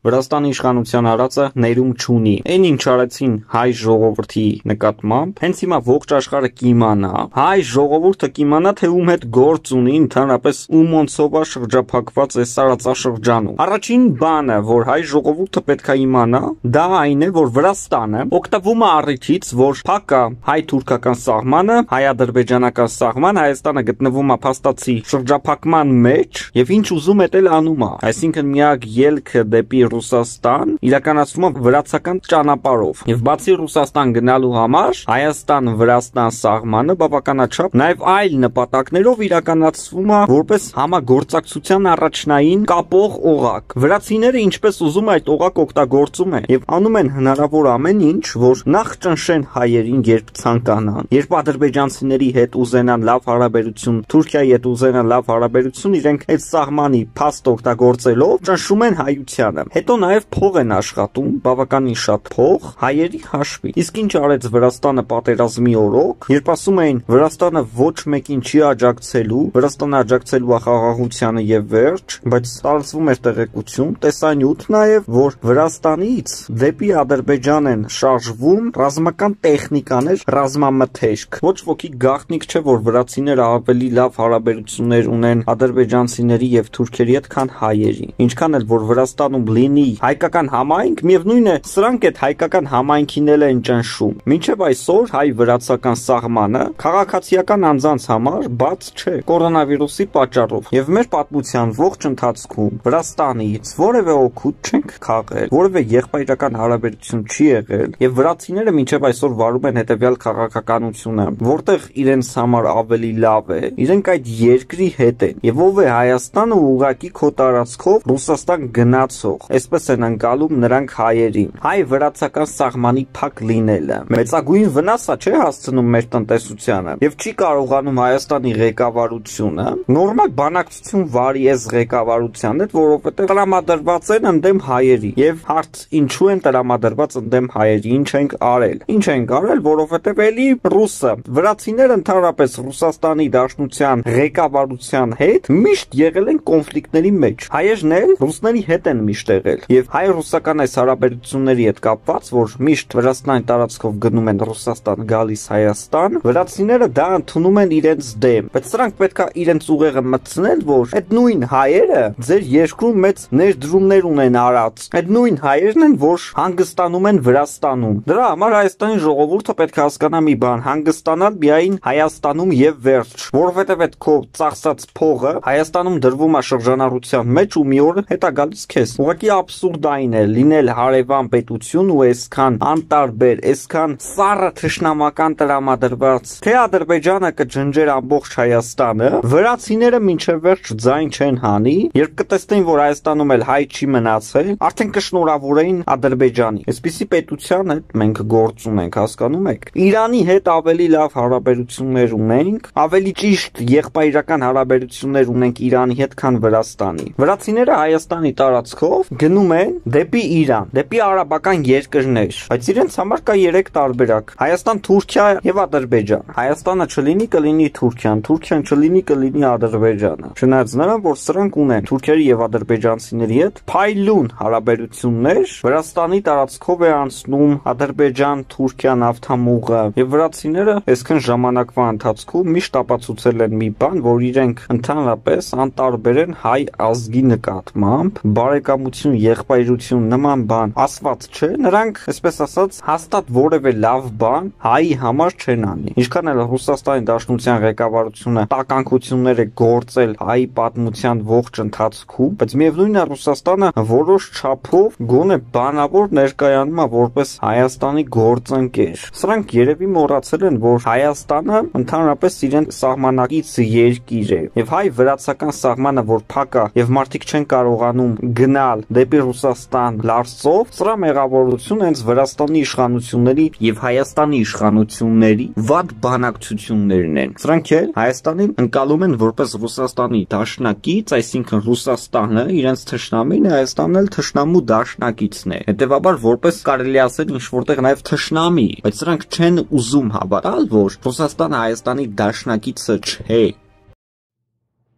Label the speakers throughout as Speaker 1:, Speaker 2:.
Speaker 1: Վրաստանի իշխանության արածը ներում չունի։ Այն ինչ արեցին հայ ժողովրդի նկատմամբ, հենց հիմա ողջ աշխարհը կիմանա, հայ ժողովուրդը կիմանա, թե ում հետ գործ ունի ընդհանրապես ումոնցով է շրջափակված այս տարածաշրջանում։ Առաջին բանը, որ հայ ժողովուրդը պետք է իմանա, դա այն է, որ Վրաստանը օգտվում է առիթից, որ փակ է հայ-թուրքական սահմանը, հայ-ադրբեջանական սահման, Հայաստանը գտնվում է փաստացի շրջափակման մեջ եւ ինչ ուզում է դել անում է։ Այսինքն միակ ելքը դեպի Ռուսաստան իրականացվում է վրացական ճանապարհով եւ բացի Ռուսաստան գնալու համար Հայաստան-Վրաստան սահմանը բավականաչափ նաեւ այլ նպատակներով իրականացվում է որպես համագործակցության առաջնային կապող օղակ։ Վրացիները ինչպես ուզում այդ օղակ օգտագործում են եւ անում են հնարավոր ամեն ինչ, որ նախ ճնշեն հայերին, երբ ցանկանան, երբ ադրբեջանցիների հետ ուզենան լավ հարաբերություն, Թուրքիայի հետ ուզենան լավ հարաբերություն, իրենք այդ սահմանի փաստ օգտագործելով ճնշում են հայությանը։ Հետո նաև փող են աշխատում, բավականին շատ փող հայերի հաշվի։ Իսկ ինչ արեց Վրաստանը պատերազմի օրոք, երբ ասում էին Վրաստանը ոչ մեկին չի աջակցելու, Վրաստանը աջակցելու է խաղաղությանը եւ վերջ, բայց տարածվում էր տեղեկություն, տեսանյութ նաև, որ Վրաստանից դեպի Ադրբեջան են շարժվում ռազմական տեխնիկաներ, ռազմամթերք։ Ոչ ոքի գաղտնիք չէ, որ վրացիները ավելի լավ հարաբերություններ ունեն ադրբեջանցիների եւ թուրքերի հետ, քան հայերի։ Ինչքան էլ որ Վրաստանում լինի հայկական համայնք, միևնույն է, սրանք այդ հայկական համայնքին էլ են ճնշում։ Մինչև այսօր հայ-վրացական սահմանը քաղաքացիական անձանց համար բաց չէ կորոնավիրուսի պատճառով։ Եվ մեր պատմության ողջ ընթացքում Վրաստանից որևէ օգուտ չենք քաղել, որևէ եղբայրական հարաբերություն չի եղել, եւ վրացիները մինչև այսօր վարում են հետեւյալ քաղաքականությունը, որտեղ իրենց համար ավելի լավ է, իրենք այդ երկրի հետ են, եւ ով է Հայաստանը ուղղակի քո տարածքով Ռուսաստան գնացող, այսպես են անցալում նրանք հայերին։ Հայ-վրացական սահմանի փակ լինելը մեծագույն վնաս է չէ հասցնում մեր տնտեսությանը եւ չի կարողանում Հայաստանի ղեկավարությունը նորմալ բանակցություն վարի այս ղեկավարության հետ, որովհետեւ տրամադրված են ընդդեմ հայերի եւ հարց ինչու են տրամադրված ընդդեմ հայերի, ինչ ենք արել։ Ինչ ենք արել, որովհետեւ էլի ռուսը, վրացիները ընդհանրապես Ռուսաստանի Դաշնության ղեկավարության հետ միշտ եղել են կոնֆլիկտների մեջ։ Հայերն էլ ռուսների հետ են միշտ եղել եւ հայ-ռուսական այս հարաբերությունների հետ կապված, որ միշտ Վրաստանի տարածքով գնում են Ռուսաստան, գալիս Հայաստան, վրացիները դա ընդունում են իրենց դեմ, բայց սրանք պետքա իրենց ուղեղը մտցնել, որ այդ նույն հայերը ձեր երկրում մեծ ներդրումներ ունեն արած, այդ նույն հայերն են, որ հանգստանում են Վրաստանում։ Դրա համար Հայաստանի ժողովուրդը պետք է հասկանա մի բան, հանգստանալ միայն Հայաստանում եւ վերջ, որովհետեւ այդ քո ծախսած փողը Հայաստանում դրվում է շրջանառության մեջ ու մի օր հետա գալիս քեզ։ Ուղղակի աբսուրդ այն է լինել հարևան պետություն ու այսքան անտարբեր, այսքան սառը թշնամական տրամադրված, թե Ադրբեջանը կջնջեր ամբողջ Հայաստանը, վրացիները մինչև վերջ ձայն չեն հանի, երբ կտեսնեն, որ Հայաստանում էլ հայ չի մնացել, արդեն կշնորհավորեին Ադրբեջանի։ Այսպիսի պետության հետ մենք գործ ունենք, հասկանում եք։ Իրանի հետ ավելի լավ հարաբերություններ ունենք, ավելի ճիշտ եղբայրական հարաբերություններ ունենք Իրանի հետ, քան Վրաստանի։ Վրացիները Հայաստանի տարածքով գնում են դեպի Իրան, դեպի արաբական երկրներ, բայց իրենց համար կա 3 տարբերակ՝ Հայաստան, Թուրքիա եւ Ադրբեջան։ Հայաստանը չլինի, կլինի Թուրքիան, Թուրքիան չլինի, կլինի Ադրբեջանը։ Չնայած նրան, որ սրանք ունեն թուրքերի եւ ադրբեջանցիների հետ փայլուն հարաբերություններ, Վրաստանի տարածքով է անցնում Ադրբեջան-Թուրքիա նավթամուղը եւ վրացիները այսքան ժամանակվա ընթացքում միշտ ապացուցել են մի բան, որ իրենք ընդհանրապես անտարբեր են հայ ազգի նկատմամբ, բարեկամություն, եղբայրություն նման բան ասված չէ, նրանք, այսպես ասած, հաստատ որևէ լավ բան հայի համար չեն անի։ Ինչքան էլ Ռուսաստանի Դաշնության ղեկավարությունը տականքություններ է գործել հայի պատմության ողջ ընթացքում, բայց միևնույնն է Ռուսաստանը որոշ չափով գոնե բանավոր ներկայանում է որպես Հայաստանի գործընկեր։ Սրանք երևի մոռացել են, որ Հայաստանը ընդհանրապես իրեն սահմանակից երկիր է եւ հայ-վրացական սահմանը, որ փակ է եւ մարդիկ չեն կարողանում գնալ դեպի Ռուսաստան լարսով, սրա մեղավորությունը հենց Վրաստանի իշխանությունների եւ Հայաստանի իշխանությունների վատ բանակցություններն են։ Սրանք էլ Հայաստանին ընկալում են որպես Ռուսաստանի դաշնակից, այսինքն Ռուսաստանը իրենց թշնամին է, Հայաստանն էլ թշնամու դաշնակիցն է։ Հետևաբար որպես կարելի ասել ինչ որտեղ նաեւ թշնամի, բայց սրանք չեն ուզում հավատալ, որ Ռուսաստանը Հայաստանի դաշնակիցը չէ։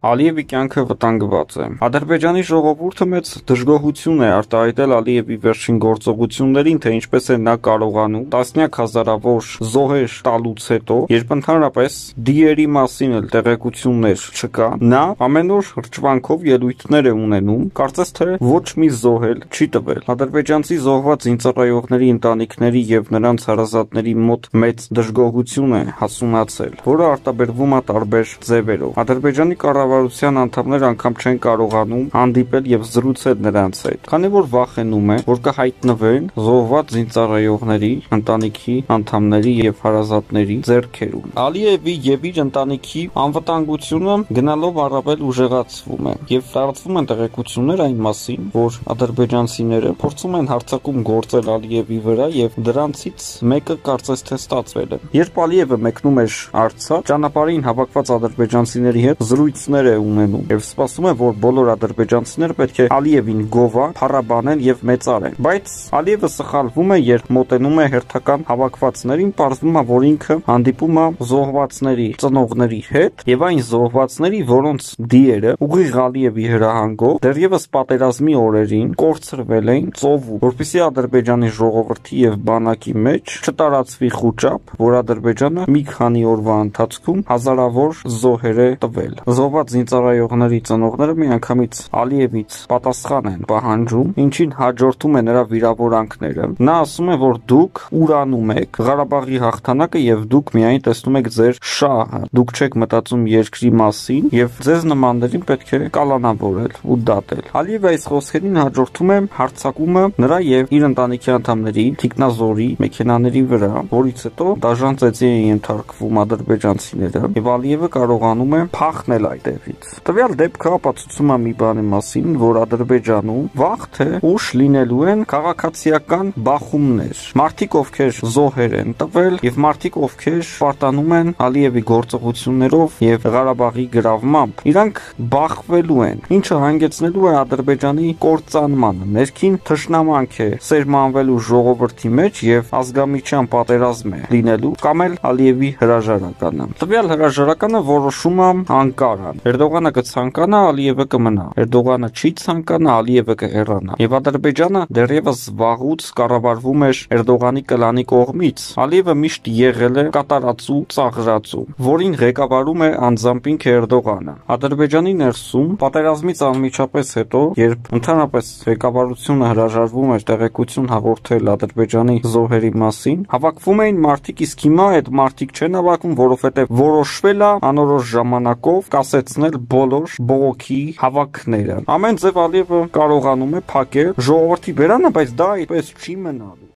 Speaker 1: Ալիևի կյանքը վտանգված է։ Ադրբեջանի ժողովուրդը մեծ դժգոհություն է արտահայտել Ալիևի վերջին գործողություններին, թե ինչպես է նա կարողանում տասնյակ հազարավոր զոհեր տալուց հետո, երբ ընդհանրապես դիերի մասին էլ տեղեկություններ չկա, նա ամեն օր հրճվանքով ելույթներ է ունենում, կարծես թե ոչ մի զոհ էլ չի տվել։ Ադրբեջանցի զոհված զինծառայողների ընտանիքների եւ նրանց հարազատների մոտ մեծ դժգոհություն է հասունացել, որը արտաբերվում է տարբեր ձևերով։ Ադրբեջանի կառավարության անդամներ անգամ չեն կարողանում հանդիպել եւ զրուցել նրանց հետ, քանի որ վախենում են, որ կհայտնվեն զոհված զինծառայողների ընտանիքի անդամների եւ հարազատների ձեռքերում։ Ալիևի եւ իր ընտանիքի անվտանգությունը գնալով առավել ուժեղացվում է եւ տարածվում են տեղեկություններ այն մասին, որ ադրբեջանցիները փորձում են հարձակում գործել Ալիևի վրա եւ դրանցից մեկը կարծես թե ստացվել է։ Երբ Ալիևը մեկնում էր Արցախ, ճանապարհին հավաքված ադրբեջանցիների հետ զրույցներ է ունենում եւ սպասում է, որ բոլոր ադրբեջանցիները պետք է Ալիևին գովան, փառաբանեն եւ մեծարեն։ Բայց Ալիևը սխալվում է, երբ մոտենում է հերթական հավաքվածներին, պարզվում է, որ ինքը հանդիպում է զոհվածների ծնողների հետ եւ այն զոհվածների, որոնց դիերը ուղիղ Ալիևի հրահանգով դեռևս պատերազմի օրերին կորցրվել էին ծովում, որպեսզի Ադրբեջանի ժողովրդի եւ բանակի մեջ չտարածվի խուճապ, որ Ադրբեջանը մի քանի օրվա ընթացքում հազարավոր զոհեր է տվել։ Զոհված զինծառայողների ծնողները միանգամից Ալիևից պատասխան են պահանջում, ինչին հաջորդում է նրա վիրավորանքները։ Նա ասում է, որ դուք ուրանում եք Ղարաբաղի հաղթանակը եւ դուք միայն տեսնում եք ձեր շահը, դուք չեք մտածում երկրի մասին եւ ձեզ նմաններին պետք է կալանավորել ու դատել։ Ալիևը այս խոսքերին հաջորդում է հարձակումը նրա եւ իր ընտանիքի անդամների թիկնազորի մեքենաների վրա, որից հետո դաժան ծեծի են ենթարկվում ադրբեջանցիները եւ Ալիևը կարողանում է փախնել այդտեղից։ Տվյալ դեպքը ապացուցում է մի բանի մասին, որ Ադրբեջանում վաղ թե ուշ լինելու են քաղաքացիական բախումներ։ Մարդիկ, ովքեր զոհեր են տվել եւ մարդիկ, ովքեր պարտանում են Ալիևի գործողություններով եւ Ղարաբաղի գրավմամբ, իրանք բախվելու են, ինչը հանգեցնելու է Ադրբեջանի կործանմանը, ներքին թշնամանք է սերմանվելու ժողովրդի մեջ եւ ազգամիջյան պատերազմ է լինելու կամ էլ Ալիևի հրաժարականը։ Տվյալ հրաժարականը որոշում է Անկարան։ Էրդողանը կցանկանա, Ալիևը կմնա։ Էրդողանը չի ցանկանա, Ալիևը կհեռանա։ Եվ Ադրբեջանը դեռևս վաղուց կառավարվում էր Էրդողանի կլանի կողմից։ Ալիևը միշտ եղել է կատարածու, ծաղրածու, որին ղեկավարում է անձամբ ինքը Էրդողանը։ Ադրբեջանի ներսում պատերազմից անմիջապես հետո, երբ ընդհանրապես ղեկավարությունը հրաժարվում էր տեղեկություն հաղորդել Ադրբեջանի զոհերի մասին, հավաքվում էին մարդիկ, իսկ հիմա այդ մարդիկ չեն հավաքվում, որովհետև որոշվել է անորոշ ժամանակով կասեցնել բոլոր բողոքի հավաքները։ Ամեն ձև Ալիևը կարողանում է փակել ժողովրդի բերանը, բայց դա այդպես չի մնալու։